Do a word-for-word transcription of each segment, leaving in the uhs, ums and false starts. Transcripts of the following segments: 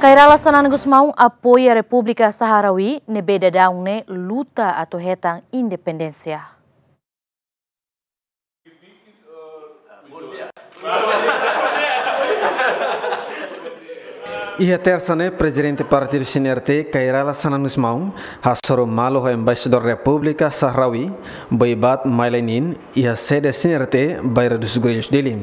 Kay Rala Xanana Gusmão apoia Repúblika Sahrawi ne'ebé daudaun ne'e luta atu hetan independénsia. Iha tersa ne'e, Prezidente Partidu C N R T, Kay Rala Xanana Gusmão, hasoru malu ho Embaixadór Repúblika Sahrawi, Boibat Mailai Nin, iha sede C N R T, Bairro dos Gurilhos, Dili.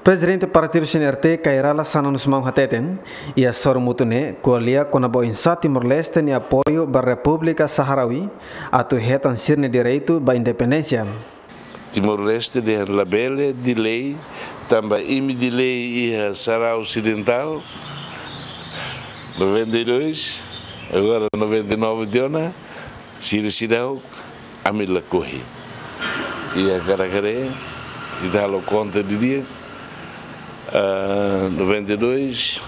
Prezidente Partidu C N R T, Kay Rala Xanana Gusmão hateten, iha hasoru mútuu ne'e ko'alia kona-ba oinsá Timor-Leste nia apoiu ba Repúblika Sahrawi atu hetan sira-nia direitu ba independénsia. Timor-Leste dehan labele delay, tanba imi delay iha Sahara Osidental, noventa e dois, agora noventa e nove tiha ona, sira seidauk, ami lakohi. Iha karik-karik, ita halo konta didi'ak, ah, noventa e dois,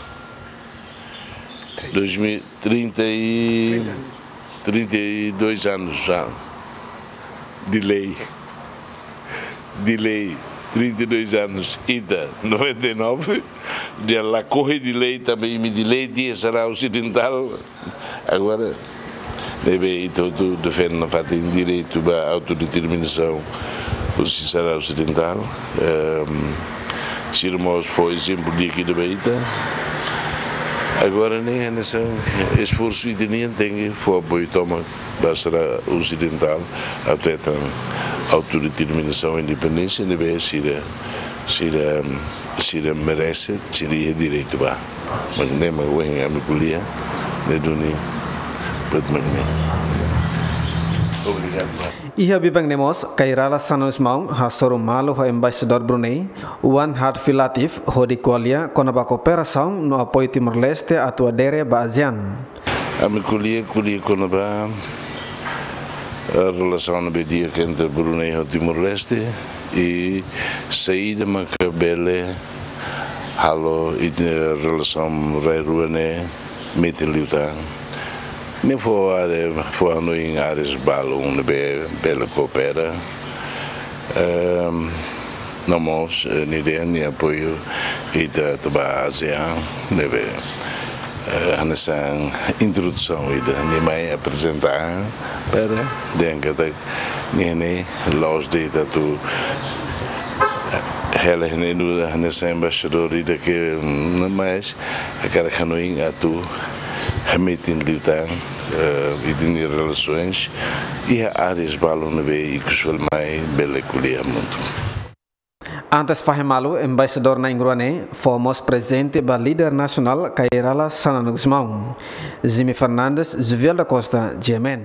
dois mil, trinta e, trinta e dois anos já. Delay. Delay. Trinta e dois anos. Ita, noventa e nove. Ita lakohi delay, tanba imi delay tiha Sahara Osidental. Agora, ne'ebé ita hotu defende nafatin direitu ba autodeterminasaun husi Sahara Osidental. Ehm, sira mós fó ezemplu di'ak ida ba ita. Agora ne'e hanesan esforsu ita-nian tenke fó apoiu tomak ba Sahara Osidental atu hetan autodeterminasaun, independénsia, ne'ebé sira, sira, sira merese, sira iha direitu ba. Mak ne'e mak ohin ami ko'alia, ne'e duni, buat mak ne'e. Obrigadu. Iha biban ne'e mós, Kay Rala Xanana Gusmão hasoru malu ho Embaixadór Brunei, Wan Hatfi Latif, hodi ko'alia kona-ba kooperasaun no apoiu Timor-Leste atu adere ba ASEAN. Ami ko'alia, ko'alia kona-ba, eh, relasaun ne'ebé di'ak entre Brunei ho Timor-Leste, i saida maka bele halo ita-nia relasaun rai-rua ne'e metin liután. Ne'e fó área, fó hanoin áreas balun ne'ebé bele koopera. Ehm, no mós, eh, nia dehan nia apoiu ita atu ba ASEAN, ne'ebé, eh, hanesan introdusaun ida, nia mai aprezenta, para dehan katak nia ne'e la'ós de'it atu hela iha ne'e nu'udar hanesan embaixadór ida ke, mm, mais hakarak hanoin atu hametin liután, eh, ita-nia relasoens iha áreas balun ne'ebé ikus fali mai bele ko'alia hamutuk. Antes fahe malu, embaixadór na'in-rua ne'e fó mós prezente ba líder nasionál Kay Rala Xanana Gusmão. Jimmy Fernandes, Juviel da Costa, G M N.